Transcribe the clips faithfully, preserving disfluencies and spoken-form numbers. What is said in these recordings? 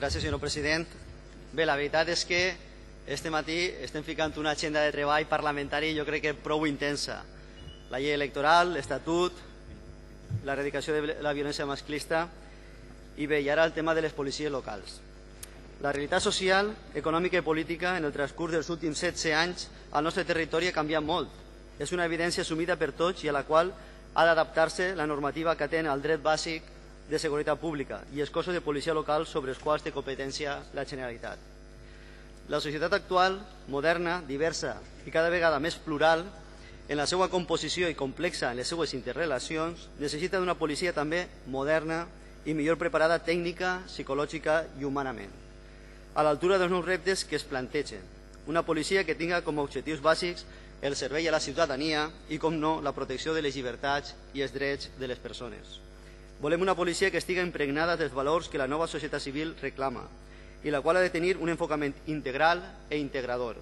Gràcies, senyor president. Bé, la veritat és que este matí estem ficant una agenda de treball parlamentari jo crec que prou intensa. La llei electoral, l'Estatut, l'erradicació de la violència masclista i bé, i ara el tema de les policies locals. La realitat social, econòmica i política en el transcurs dels últims setze anys al nostre territori ha canviat molt. És una evidència assumida per tots i a la qual ha d'adaptar-se la normativa que atén al dret bàsic de seguretat pública i els cossos de policia local sobre els quals té competència la Generalitat. La societat actual, moderna, diversa i cada vegada més plural, en la seva composició i complexa en les seues interrelacions, necessita d'una policia també moderna i millor preparada tècnica, psicològica i humanament, a l'altura dels nous reptes que es plantegen. Una policia que tinga com a objectius bàsics el servei a la ciutadania i, com no, la protecció de les llibertats i els drets de les persones. Volem una policia que estigui impregnada dels valors que la nova societat civil reclama i la qual ha de tenir un enfocament integral e integrador.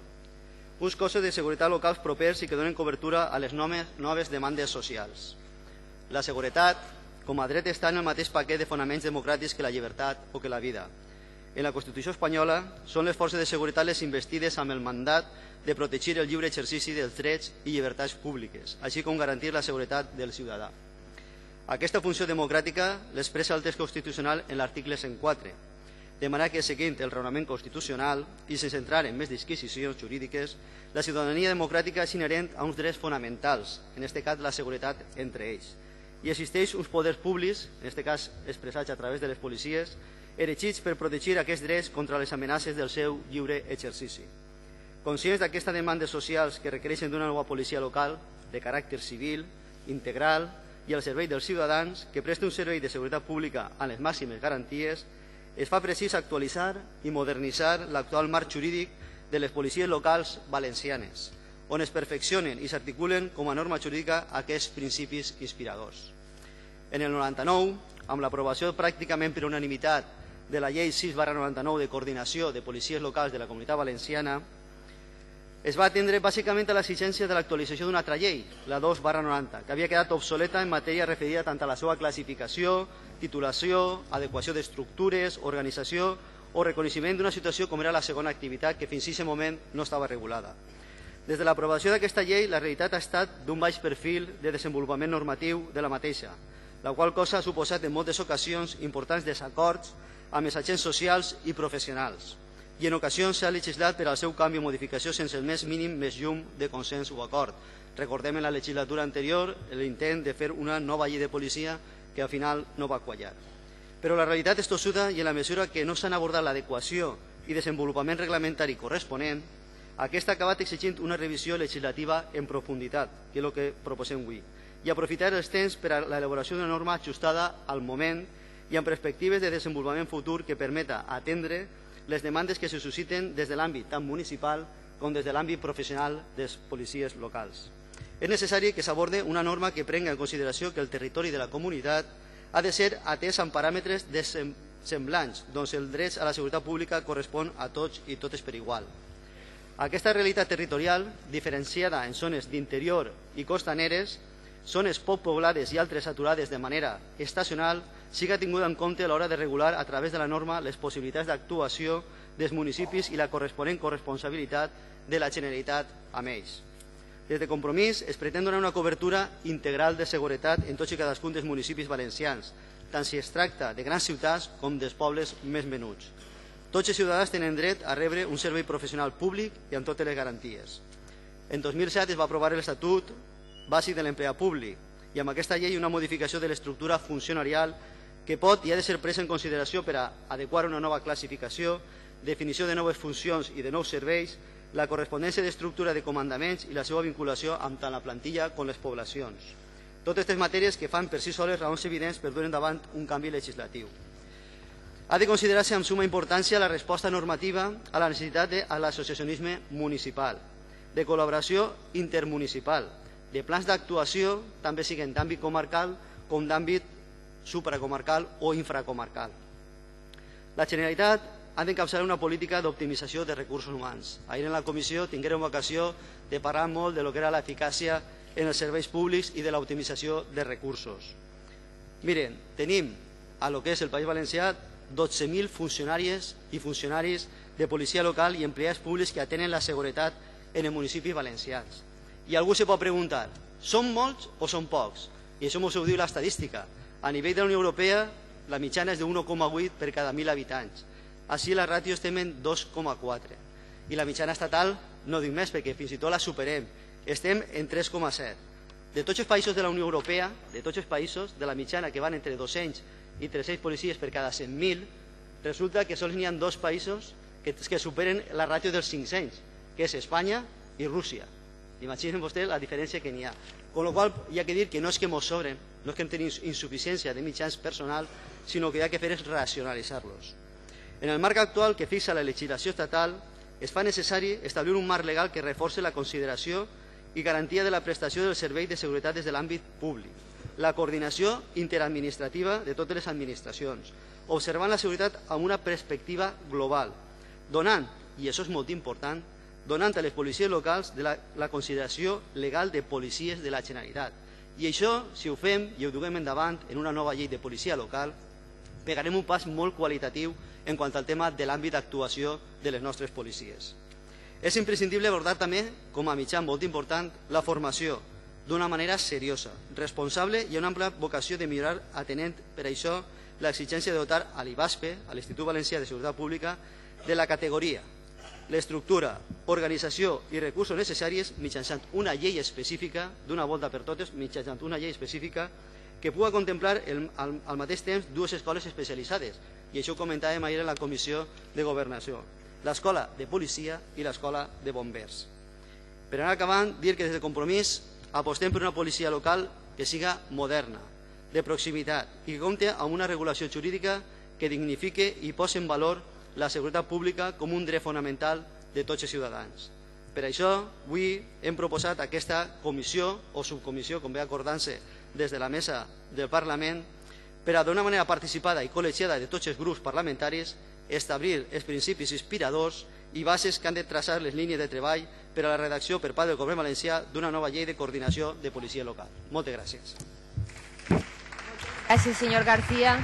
Uns cossos de seguretat locals propers i que donen cobertura a les noves demandes socials. La seguretat, com a dret, està en el mateix paquet de fonaments democràtics que la llibertat o que la vida. En la Constitució espanyola són les forces de seguretat les investides amb el mandat de protegir el lliure exercici dels drets i llibertats públiques, així com garantir la seguretat del ciutadà. Aquesta funció democràtica l'expressa el text constitucional en l'article cent quatre, de manera que, seguint el raonament constitucional i sense entrar en més disquisicions jurídiques, la ciutadania democràtica és inherent a uns drets fonamentals, en aquest cas la seguretat entre ells, i existeix uns poders públics, en aquest cas expressats a través de les policies, erigits per protegir aquests drets contra les amenaces del seu lliure exercici. Conscients d'aquestes demandes socials que requereixen d'una nova policia local, de caràcter civil, integral i al servei dels ciutadans, que presti un servei de seguretat pública amb les màximes garanties, es fa precís actualitzar i modernitzar l'actual marc jurídic de les policies locals valencianes, on es perfeccionen i s'articulen com a norma jurídica aquests principis inspiradors. En el noranta-nou, amb l'aprovació pràcticament per unanimitat de la llei sis barra noranta-nou de coordinació de policies locals de la Comunitat Valenciana, es va atendre bàsicament a l'exigència de l'actualització d'una altra llei, la dos barra noranta, que havia quedat obsoleta en matèria referida tant a la seva classificació, titulació, adequació d'estructures, organització o reconeixement d'una situació com era la segona activitat que fins a aquest moment no estava regulada. Des de l'aprovació d'aquesta llei, la realitat ha estat d'un baix perfil de desenvolupament normatiu de la mateixa, la qual cosa ha suposat en moltes ocasions importants desacords amb els agents socials i professionals, i en ocasions s'ha legislat per al seu canvi o modificació sense el més mínim més llum de consens o acord. Recordem en la legislatura anterior l'intent de fer una nova llei de policia que al final no va quallar. Però la realitat és tossuda i en la mesura que no s'han abordat l'adequació i desenvolupament reglamentari corresponent, aquesta ha acabat exigint una revisió legislativa en profunditat, que és el que proposem avui, i aprofitar els temps per a l'elaboració d'una norma ajustada al moment i amb perspectives de desenvolupament futur que permeta atendre les demandes que se susciten des de l'àmbit tant municipal com des de l'àmbit professional dels policies locals. És necessari que s'aborde una norma que prenga en consideració que el territori de la comunitat ha de ser atès amb paràmetres semblants, doncs el dret a la seguretat pública correspon a tots i totes per igual. Aquesta realitat territorial, diferenciada en zones d'interior i costaneres, zones poc poblades i altres saturades de manera estacional, siga tinguda en compte a l'hora de regular a través de la norma les possibilitats d'actuació dels municipis i la corresponent corresponsabilitat de la Generalitat amb ells. Des de Compromís es pretén donar una cobertura integral de seguretat en tots i cadascun dels municipis valencians, tant si es tracta de grans ciutats com dels pobles més menuts. Tots els ciutadans tenen dret a rebre un servei professional públic i amb totes les garanties. En dos mil set es va aprovar l'Estatut bàsic de l'empleat públic i amb aquesta llei una modificació de l'estructura funcionarial que pot i ha de ser presa en consideració per a adequar una nova classificació, definició de noves funcions i de nous serveis, la correspondència d'estructura de comandaments i la seva vinculació amb tant la plantilla com les poblacions. Totes aquestes matèries que fan per si soles raons evidents per dur endavant un canvi legislatiu. Ha de considerar-se amb suma importància la resposta normativa a la necessitat de l'associacionisme municipal, de col·laboració intermunicipal, de plans d'actuació, també siguin d'àmbit comarcal com d'àmbit supracomarcal o infracomarcal. La Generalitat ha d'encapçalar una política d'optimització de recursos humans. Ahir en la comissió tinguérem ocasió de parlar molt de lo que era l'eficàcia en els serveis públics i de l'optimització de recursos. Miren, tenim a lo que és el País Valencià dotze mil funcionàries i funcionaris de policia local i empleats públics que atenen la seguretat en els municipis valencians. I algú se pot preguntar, són molts o són pocs? I això ens ho diu l'estadística. A nivell de la Unió Europea, la mitjana és de un coma vuit per cada mil habitants. Així la ràtio estem en dos coma quatre. I la mitjana estatal no dic més perquè fins i tot la superem. Estem en tres coma set. De tots els països de la Unió Europea, de tots els països, de la mitjana que van entre dos-cents i tres-cents policies per cada cent mil, resulta que sols n'hi ha dos països que, que superen la ràtio dels cinc-cents, que és Espanya i Rússia. Imaginen vostès la diferència que n'hi ha. Con lo qual hi ha que dir que no és que ens sobren, no és que tenim insuficiència de mitjans personal, sinó que hi ha que fer és racionalitzar-los. En el marc actual que fixa la legislació estatal, es fa necessari establir un marc legal que reforci la consideració i garantia de la prestació del servei de seguretat des de l'àmbit públic, la coordinació interadministrativa de totes les administracions, observant la seguretat amb una perspectiva global, donant, i això és molt important, donant a les policies locals de la, la consideració legal de policies de la Generalitat. I això, si ho fem i ho duguem endavant en una nova llei de policia local, pegarem un pas molt qualitatiu en quant al tema de l'àmbit d'actuació de les nostres policies. És imprescindible abordar també, com a mitjà molt important, la formació d'una manera seriosa, responsable i una ampla vocació de millorar, atenent per això l'exigència de dotar a l'I B A S P E, a l'Institut Valencià de Seguretat Pública, de la categoria, l'estructura, organització i recursos necessaris mitjançant una llei específica, d'una volta per totes, mitjançant una llei específica que pugui contemplar el, al, al mateix temps dues escoles especialitzades, i això ho comentàvem ahir en la Comissió de Governació, l'escola de policia i l'escola de bombers. Per anar acabant, dir que des de Compromís apostem per una policia local que siga moderna, de proximitat i que compti amb una regulació jurídica que dignifique i posi en valor la seguretat pública com un dret fonamental de tots els ciutadans. Per això, avui hem proposat aquesta comissió o subcomissió, com ve acordant-se des de la mesa del Parlament, per a d'una manera participada i col·legiada de tots els grups parlamentaris establir els principis inspiradors i bases que han de traçar les línies de treball per a la redacció per part del Govern valencià d'una nova llei de coordinació de policia local. Moltes gràcies. Gràcies, senyor García.